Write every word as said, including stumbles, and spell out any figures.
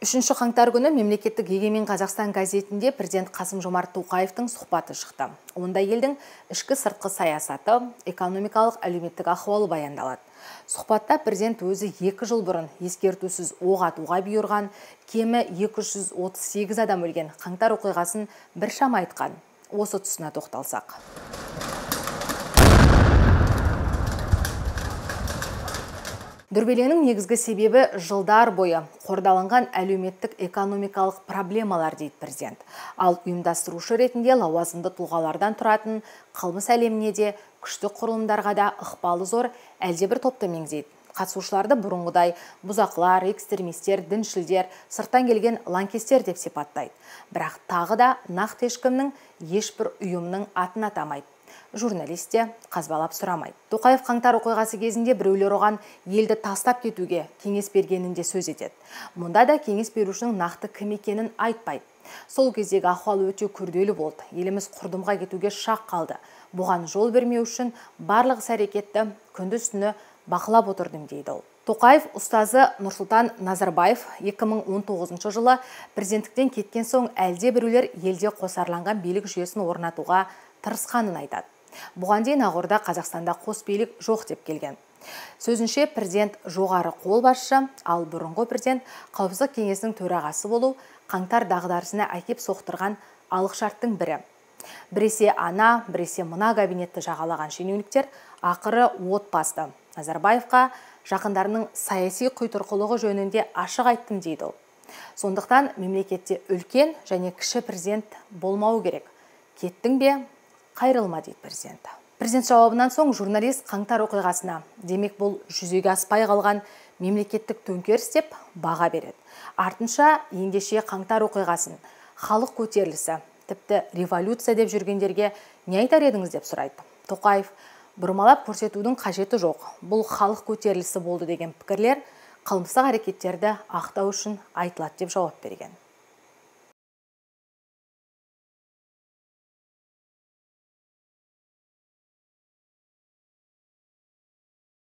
үшінші қаңтар күні мемлекеттік егемен Қазақстан газетінде президент Қасым-Жомарт Тоқаевтың сұхбаты шықты. Онда елдің ішкі сыртқы саясаты, экономикалық әлеуметтік ахуалы баяндалады. Сұхбатта президент өзі екі жыл бұрын ескертусіз оқ атуға бұйырған, кемі екі жүз отыз сегіз адам өлген қаңтар оқиғасын біршама айтқан. Осы тұсына тоқталсақ. Дүрбеленің негізгі себебі жылдар бойы қордаланған әлеуметтік экономикалық проблемалар дейді президент. Ал ұйымдастырушы ретінде лауазымды тұлғалардан тұратын қылмыс әлеміне де күшті құрылымдарға да ықпалы зор әлдебір топты меңзейді. Қатысушыларды бұрынғыдай бұзақылар, экстремистер, діншілдер, сырттан келген лаңкестер деп сипаттайды. Бірақ тағы да нақты ешкімнің ешбір ұйымның атын атамайды. Журналист те қазбалап сұрамайды. Тоқаев қаңтар оқиғасы кезінде біреулер оған елді тастап кетуге кеңес бергенінде сөз етеді. Мұнда да кеңес берушінің нақты кім екенін айтпайды. Сол кездегі ахуал өте күрделі болды. Еліміз құрдымға кетуге шақ қалды. Бұған жол бермеу үшін барлық іс-әрекетті күндіз-түні бақылап отырдым дейді ол. Тоқаев ұстазы Нұрсұлтан Назарбаев екі мың он тоғызыншы жылы президенттіктен кеткен соң әлде біреулер елде қосарланған билік жүйесін орнатуға тырысқанын айтады. Бұған дейін Ақорда Қазақстанда қос билік жоқ деп келген. Сөзінше президент жоғары қолбасшы, ал бұрынғы президент Қауіпсіздік кеңесінің төрағасы болу қаңтар дағдарысына әкеп соқтырған алғышарттың бірі. Біресе ана, біресе мына кабинетті жағалаған шенеуніктер ақыры от басты. Назарбаевқа жақындарының саяси құйтырқылығы жөнінде ашық айттым дейді ол. Сондықтан мемлекетте үлкен және кіші президент болмау керек. Кеттің бе? Қайрылма дейді президент. Президент жауабынан соң журналист қаңтар оқиғасына, демек бұл жүзеге аспай қалған мемлекеттік төңкеріс деп баға береді. Артынша ендеше қаңтар оқиғасын, халық көтерілісі, тіпті революция деп жүргендерге не айтар едіңіз деп сұрайды. Тоқаев бұрмалап көрсетудің қажеті жоқ. Бұл халық көтерілісі болды деген пікірлер қылмыстық әрекеттерді ақтау үшін айтылады деп жауап берген.